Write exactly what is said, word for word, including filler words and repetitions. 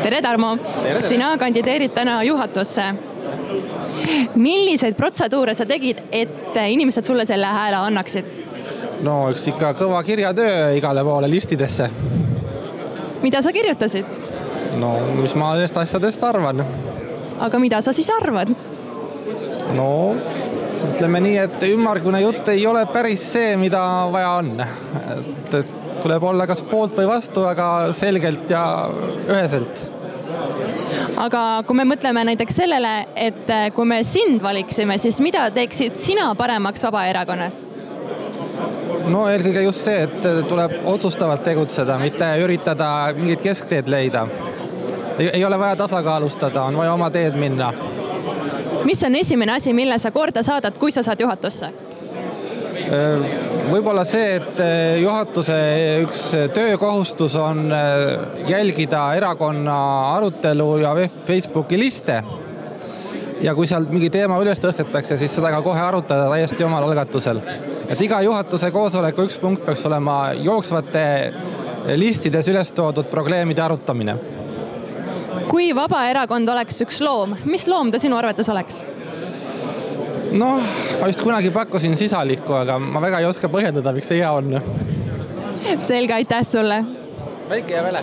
tere, Tarmo! Sina kandideerid täna juhatusse. Milliseid protseduure sa tegid, et inimesed sulle selle hääle annaksid? No üks ikka kõva kirjatöö igale poole listidesse. Mida sa kirjutasid? No, mis ma nendest asjadest arvan. Aga mida sa siis arvad? No, ütleme nii, et ümmargune jutt ei ole päris see, mida vaja on. Et tuleb olla kas poolt või vastu, aga selgelt ja üheselt. Aga kui me mõtleme näiteks sellele, et kui me sind valiksime, siis mida teeksid sina paremaks Vabaerakonnas? No eelkõige just see, et tuleb otsustavalt tegutseda, mitte üritada mingit keskteed leida. Ei ole vaja tasakaalustada, on vaja oma teed minna. Mis on esimene asi, mille sa korda saadad, kui sa saad juhatusse? Võib-olla see, et juhatuse üks töökohustus on jälgida erakonna arutelu ja Facebooki liste. Ja kui sealt mingi teema üles tõstetakse, siis seda ka kohe arutada täiesti omal algatusel. Et iga juhatuse koosoleku üks punkt peaks olema jooksvate listides üles toodud probleemide arutamine. Kui Vabaerakond oleks üks loom, mis loom ta sinu arvates oleks? Noh, ma vist kunagi pakkusin sisalikku, aga ma väga ei oska põhjendada, miks see hea on. Selge, aitäh sulle! Väike ja väle!